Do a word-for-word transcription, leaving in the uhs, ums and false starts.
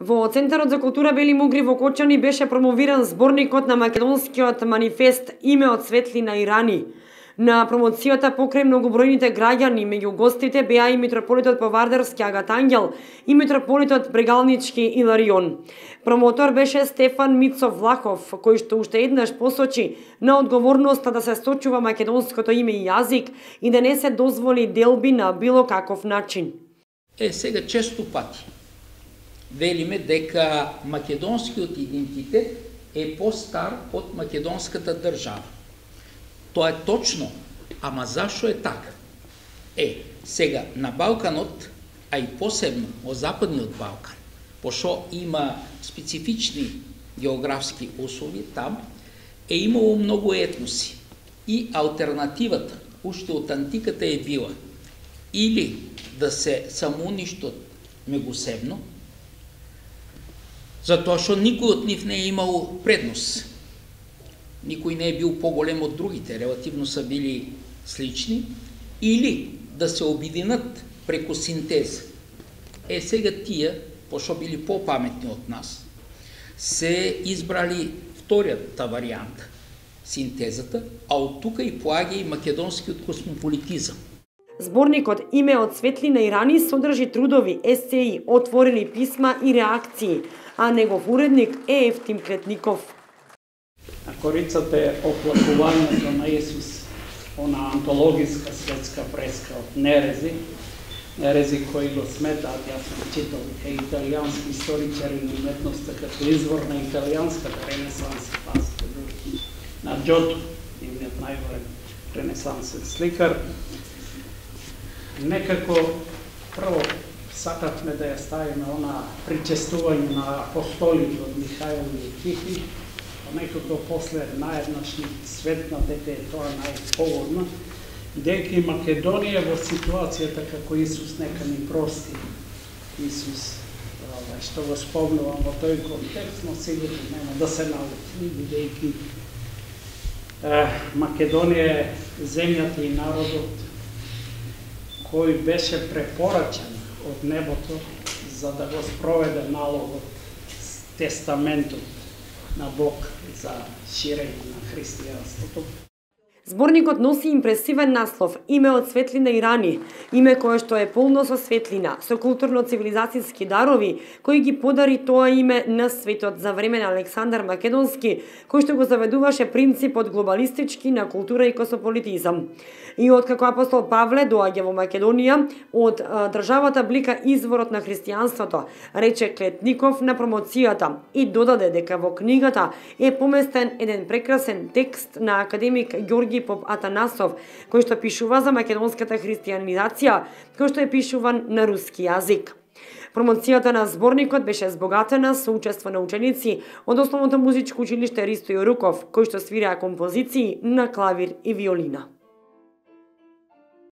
Во Центарот за култура Бели Мугри во Кочани беше промовиран зборникот на македонскиот манифест Име од светлина и рани. На промоцијата покрај многобројните граѓани меѓу гостите беа и митрополитот Повардарски Агат Ангел и митрополитот Брегалнички Иларион. Промотор беше Стефан Мицов Влахов, кој што уште еднаш посочи на одговорноста да се сточува македонското име и јазик и да не се дозволи делби на било каков начин. Е, сега често пати велиме дека македонскиот идентитет е постар од македонската држава. Тоа е точно, ама зашо е така? Е, сега на Балканот, а и посебно во Западниот Балкан, пошто има специфични географски услови там, е имало многу етноси. И алтернативата, уште од антиката е била или да се самоуништат меѓусебно, затоа што никој од нив не е имал предност. Никој не е бил поголем од другите, релативно са били слични, или да се обединат преку синтеза. Е, сега тие, пошто били попаметни од нас, се избрали вторијата варијанта, синтезата, а од тука и поаѓа и македонскиот космополитизам. Зборникот Име од светлина и рани содржи трудови, есеи, отворени писма и реакции, а негов уредник е Ефтим Клетников. На корицата е оплакувањето на Исус, она антологиска светска преска од Нерези, Нерези кои го сметаат, јас сум читал, дека италијански историчари на уметноста като извор на италијанската ренесанса, пасите на Джото, нивниот најголем ренесансен сликар. Некако прво сакавме да ја ставиме она причестување на апостолите од Михаил и Тихи, а некако после наеднаш ни светна дека е тоа најпогодно, дека и Македонија во ситуацијата како Исус нека ни прости. Исус, што го спомнувам во тој контекст, но сигурно нема да се научи, бидејќи Македонија е земјата и народот кој беше препорачен од небото за да го спроведе налогот, тестаментот на Бог за ширење на христијанството. Зборникот носи импресивен наслов Име од светлина и рани, име кое што е полно со светлина, со културно-цивилизацијски дарови, кои ги подари тоа име на светот за време на Александар Македонски, кој што го заведуваше принципот глобалистички на култура и космополитизам. И откако апостол Павле доаѓа во Македонија, од државата блика изворот на христијанството, рече Клетников на промоцијата и додаде дека во книгата е поместен еден прекрасен текст на академик Ѓорги Поп Атанасов, кој што пишува за македонската христијанизација, кој што е пишуван на руски јазик. Промоцијата на зборникот беше збогатена со учество на ученици од Основното музичко училиште Ристо Јоруков, кои што свираа композиции на клавир и виолина.